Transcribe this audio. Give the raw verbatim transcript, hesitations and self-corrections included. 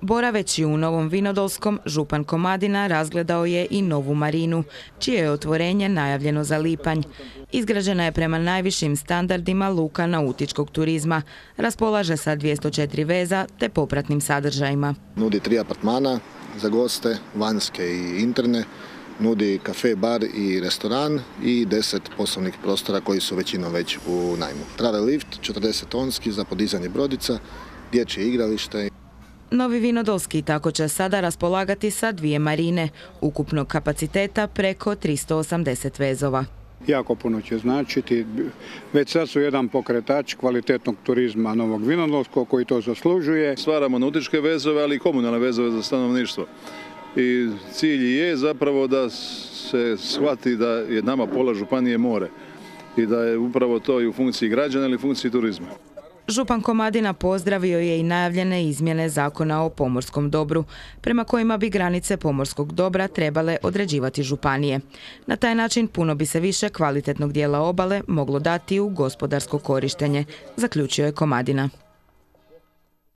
Boraveći u Novom Vinodolskom, župan Komadina razgledao je i novu marinu, čije je otvorenje najavljeno za lipanj. Izgrađena je prema najvišim standardima luka nautičkog turizma, raspolaže sa dvjesto četiri veza te popratnim sadržajima. Nudi tri apartmana za goste, vanjske i interne, nudi kafe, bar i restoran i deset poslovnih prostora koji su većinom već u najmu. Travel lift, četrdeset tonski za podizanje brodica, dječje igralište. Novi Vinodolski tako će sada raspolagati sa dvije marine, ukupnog kapaciteta preko tristo osamdeset vezova. Jako puno će značiti. Već sad su jedan pokretač kvalitetnog turizma Novog Vinodolskog koji to zaslužuje. Stvaramo nautičke vezove, ali i komunalne vezove za stanovništvo. I cilj je zapravo da se shvati da je nama pola županije more i da je upravo to i u funkciji građana ili funkciji turizma. Župan Komadina pozdravio je i najavljene izmjene zakona o pomorskom dobru, prema kojima bi granice pomorskog dobra trebale određivati županije. Na taj način puno bi se više kvalitetnog dijela obale moglo dati u gospodarsko korištenje, zaključio je Komadina.